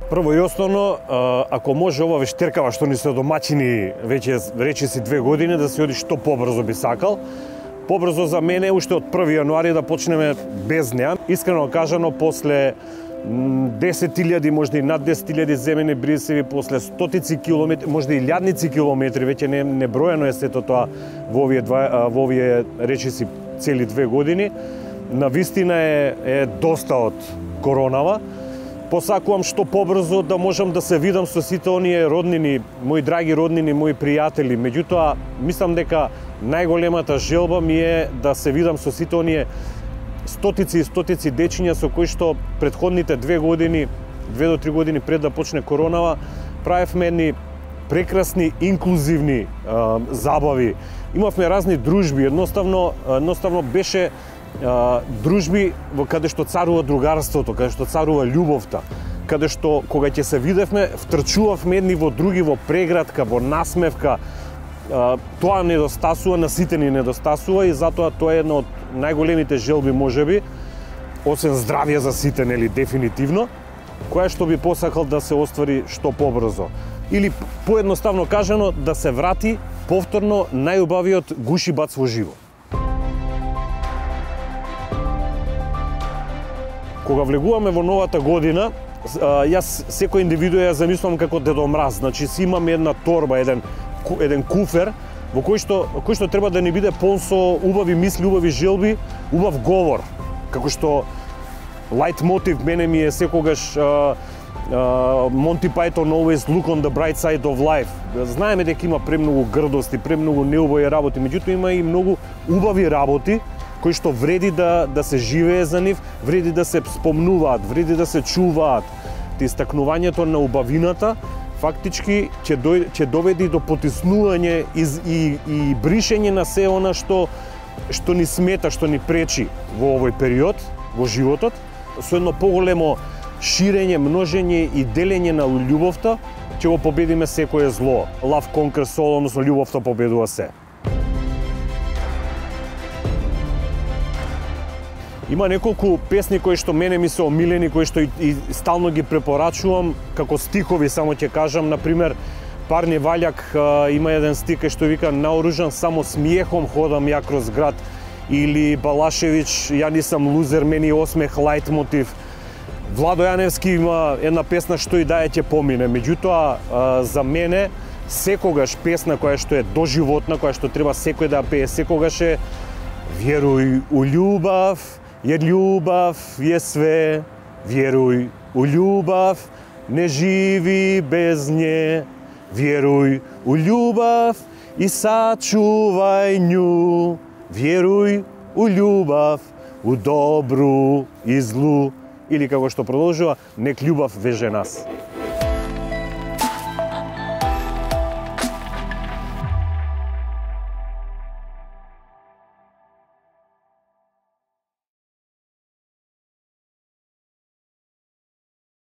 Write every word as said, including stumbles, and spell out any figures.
Прво и основно, ако може ова вештеркава што ни се домаќини веќе речиси две години да се оди што побрзо би сакал. Побрзо за мене уште од први јануари да почнеме без неа. Искрено кажано, после десет илјади, можда и над десет илјади земени брисеви, после стотици километри, можда и илјадници километри, веќе не неброено е сето тоа во овие два, во овие речиси цели две години. Навистина е, е доста од коронава. Посакувам што побрзо да можам да се видам со сите оние роднини, мои драги роднини, мои пријатели. Меѓутоа, мислам дека најголемата желба ми е да се видам со сите оние стотици и стотици дечиња со кои што претходните две години, две до три години пред да почне коронава, правевме едни прекрасни, инклузивни а, забави. Имавме разни дружби, едноставно, едноставно беше а, дружби во каде што царува другарството, каде што царува љубовта, каде што кога ќе се видевме, втрчувавме едни во други во прегратка, во насмевка. А, тоа недостасува, на сите ни недостасува и затоа тоа е една од најголемите желби можеби, освен здравје за сите, нели, дефинитивно, која што би посакал да се оствари што побрзо. Или поедноставно кажано, да се врати повторно најубавиот гуши бац во живо. Кога влегуваме во новата година, јас секој индивидуа ја замислам како Дедо Мраз, значи си имам една торба, еден еден куфер во кој што кој што треба да ни биде полн со убави мисли, убави желби, убав говор. Како што лајт мотив мене ми е секогаш uh, uh, Monty Python always look on the bright side of life. Знаеме дека има премногу грдости, премногу неубави работи, меѓутоа има и многу убави работи кои што вреди да да се живее за нив, вреди да се спомнуваат, вреди да се чуваат. Ти истакнувањето на убавината фактички ќе дојде, ќе доведе до потиснување и, и, и бришење на се она што што ни смета, што ни пречи во овој период во животот, со едно поголемо ширење, множење и делење на љубовта, ќе го победиме секое зло. Love conquers all, односно љубовта победува се. Има неколку песни кои што мене ми се омилени, кои што и, и стално ги препорачувам како стихови, само ќе кажам, например, Парни Ваљак а, има еден стих кој што вика наоружан само смиехом ходам ја кроз град, или Балашевич ја нисам лузер, мени осмех лајт мотив. Владо Јаневски има една песна што и да ја ќе помине. Меѓутоа, а, за мене секогаш песна која што е доживотна, која што треба секој да ја пее секогаш е Вјеруј у љубав, jer ljubav je sve, vjeruj u ljubav, ne živi bez nje. Vjeruj u ljubav i sačuvaj nju. Vjeruj u ljubav, u dobru i zlu. Ili kako što продолжува, nek ljubav veže nas.